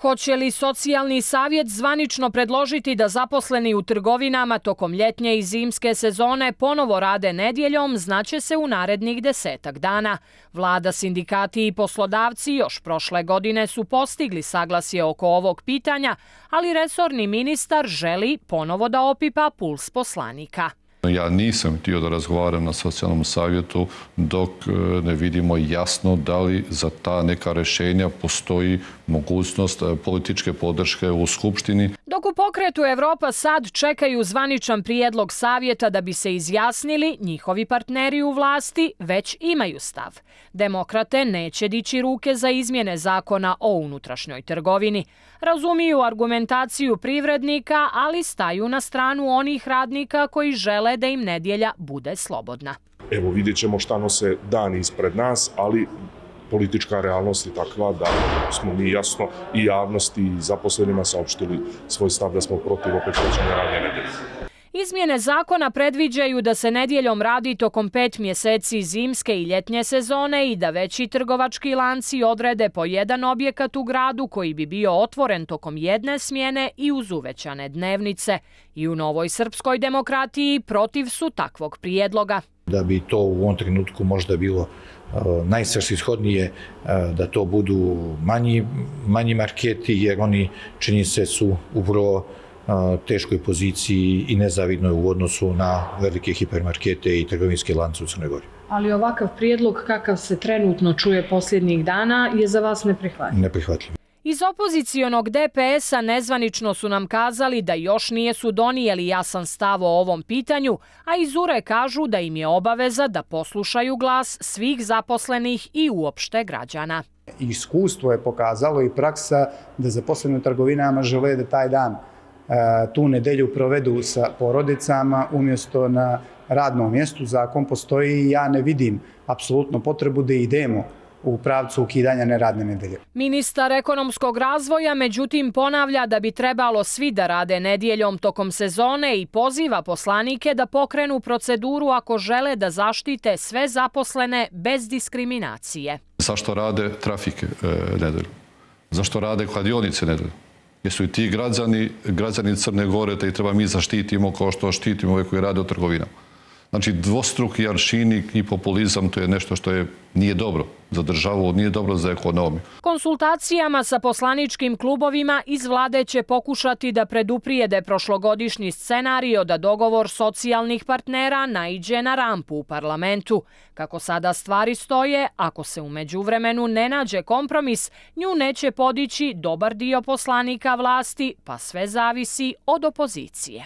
Hoće li socijalni savjet zvanično predložiti da zaposleni u trgovinama tokom ljetnje i zimske sezone ponovo rade nedjeljom, znaće se u narednih 10 dana. Vlada, sindikati i poslodavci još prošle godine su postigli saglasje oko ovog pitanja, ali resorni ministar želi ponovo da opipa puls poslanika. Ja nisam htio da razgovaram na socijalnom savjetu dok ne vidimo jasno da li za ta neka rješenja postoji mogućnost političke podrške u Skupštini. Dok u pokretu Evropa sad čekaju zvaničan prijedlog savjeta da bi se izjasnili, njihovi partneri u vlasti već imaju stav. Demokrate neće dići ruke za izmjene zakona o unutrašnjoj trgovini. Razumiju argumentaciju privrednika, ali staju na stranu onih radnika koji žele da im nedjelja bude slobodna. Evo, vidjet ćemo šta nose dani ispred nas, ali politička realnost je takva da smo mi jasno i javnosti i zaposlenima saopštili svoj stav da smo protiv opet većanja radne nedelje. Izmjene zakona predviđaju da se nedjeljom radi tokom 5 mjeseci zimske i ljetnje sezone i da veći trgovački lanci odrede po jedan objekat u gradu koji bi bio otvoren tokom jedne smjene i uz uvećane dnevnice. I u Novoj srpskoj demokratiji protiv su takvog prijedloga. Da bi to u ovom trenutku možda bilo najsvrsishodnije da to budu manji marketi, jer oni, čini se, su upravo teškoj poziciji i nezavidnoj u odnosu na velike hipermarkete i trgovinske lance u Crnoj Gori. Ali ovakav prijedlog kakav se trenutno čuje posljednjih dana je za vas neprihvatljiv? Neprihvatljiv. Iz opozicionog DPS-a nezvanično su nam kazali da još nisu donijeli jasan stav o ovom pitanju, a iz URE kažu da im je obaveza da poslušaju glas svih zaposlenih i uopšte građana. Iskustvo je pokazalo i praksa da zaposleni u trgovinama žele da taj dan tu nedelju provedu sa porodicama umjesto na radnom mjestu. Zakon postoji i ja ne vidim apsolutno potrebu da idemo u pravcu ukidanja neradne nedelje. Ministar ekonomskog razvoja međutim ponavlja da bi trebalo svi da rade nedjeljom tokom sezone i poziva poslanike da pokrenu proceduru ako žele da zaštite sve zaposlene bez diskriminacije. Zašto rade trafike nedelju? Zašto rade kladionice nedelju? Jesu i ti građani Crne Gore da ih treba mi zaštitimo kao što štitimo ove koji rade u trgovinama. Znači, dvostruki aršini i populizam, to je nešto što nije dobro za državu, nije dobro za ekonomiju. Konsultacijama sa poslaničkim klubovima iz vlade će pokušati da preduprijede prošlogodišnji scenario da dogovor socijalnih partnera naiđe na rampu u parlamentu. Kako sada stvari stoje, ako se u međuvremenu ne nađe kompromis, nju neće podići dobar dio poslanika vlasti, pa sve zavisi od opozicije.